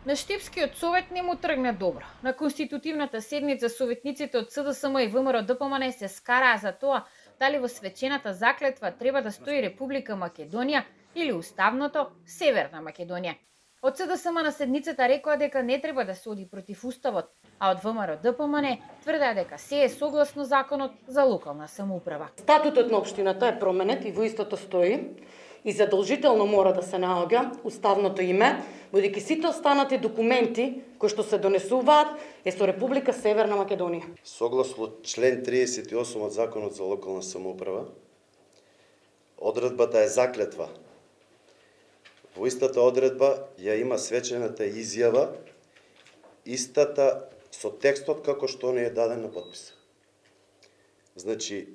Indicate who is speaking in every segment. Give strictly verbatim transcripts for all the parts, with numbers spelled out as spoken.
Speaker 1: На Штипскиот совет не му тргна добро. На конститутивната седница советниците од СДСМ и ВМРО-ДПМН се скараа за тоа дали во свечената заклетва треба да стои Република Македонија или уставното Северна Македонија. Од СДСМ на седницата рекоа дека не треба да се оди против уставот, а од ВМРО-ДПМН тврдеа дека се е согласно законот за локална самоуправа.
Speaker 2: Статутот на општината е променет и во истото стои и задолжително мора да се наоѓа уставното име, бидејќи сите останати документи кои што се донесуваат е со Република Северна Македонија.
Speaker 3: Согласно член триесет и осум од Законот за локална самоуправа, одредбата е заклетва. Во истата одредба ја има свечената изјава, истата со текстот како што не е даден на подпис. Значи,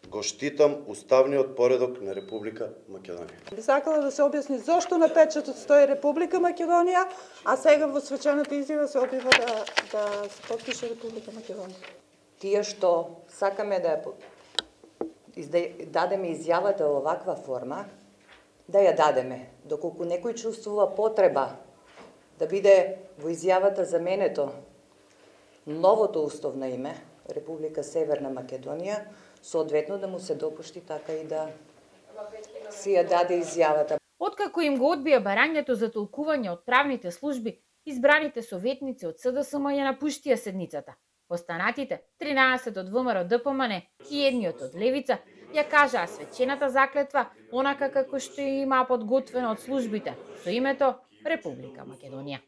Speaker 3: го штитам уставниот поредок на Република Македонија.
Speaker 4: Би сакала да се објасни зошто на печатот стои Република Македонија, а сега во свечената изјава се објава да, да се потпише Република Македонија.
Speaker 5: Тие што сакаме да ја дадеме изјавата во оваква форма, да ја дадеме. Доколку некој чувствува потреба да биде во изјавата заменето новото уставно име, Република Северна Македонија, соодветно да му се допушти така и да си ја даде изјавата.
Speaker 1: Откако им го одбија барањето за толкување од правните служби, избраните советници од СДСМ ја напуштија седницата. Останатите, тринаесет од ВМРО-ДПМН и едниот од Левица, ја кажаа свечената заклетва онака како што ја имаа подготвено од службите, со името Република Македонија.